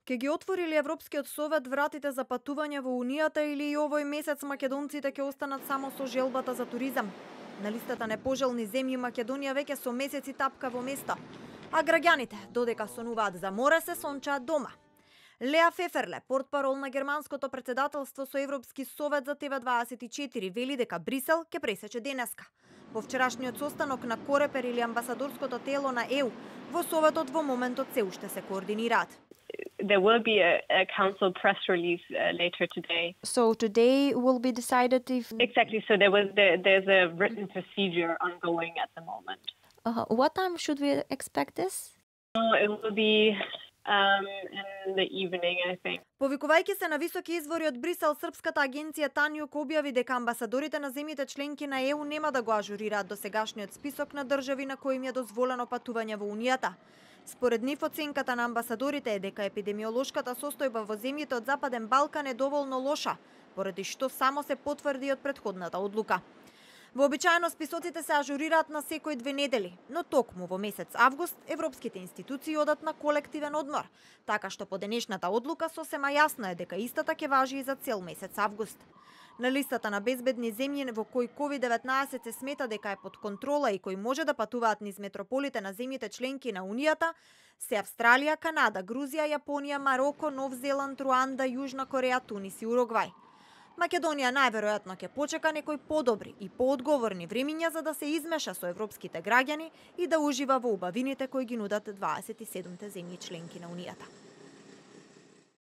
Ке ги отвори ли Европскиот совет вратите за патување во Унијата или и овој месец македонците ќе останат само со желбата за туризам? На листата непожелни земји Македонија веќе со месеци тапка во место, а граѓаните додека сонуваат за море се сончаат дома. Леа Феферле, портпарол на германското претседателство со Европски совет за ТВ24, вели дека Брисел ќе пресече денеска. По вчерашниот состанок на Корепер или амбасадорското тело на ЕУ, во советот во моментот се уште се координираат. There will be a council press release later today. So today will be decided if... Exactly, so there's a written procedure ongoing at the moment. What time should we expect this? It will be in the evening, I think. Повикувајќи се на високи извори од Брисел, српската агенција Тањук објави дека амбасадорите на земјите членки на ЕУ нема да го ажурираат досегашниот список на држави на кои им е дозволено патување во Унијата. Според нив оценката на амбасадорите е дека епидемиолошката состојба во земјите од Западен Балкан е доволно лоша, поради што само се потврди од претходната одлука. Вообичаено списоците се ажурираат на секој 2 недели, но токму во месец август европските институции одат на колективен одмор, така што по денешната одлука сосема јасно е дека истата ќе важи и за цел месец август. На листата на безбедни земји во кои COVID-19 се смета дека е под контрола и кои може да патуваат низ метрополите на земјите членки на Унијата, се Австралија, Канада, Грузија, Јапонија, Мароко, Нов Зеланд, Руанда, Јужна Кореја, Тунис и Уругвај. Македонија најверојатно ќе почека некои подобри и поодговорни времиња за да се измеша со европските граѓани и да ужива во убавините кои ги нудат 27 земји членки на Унијата.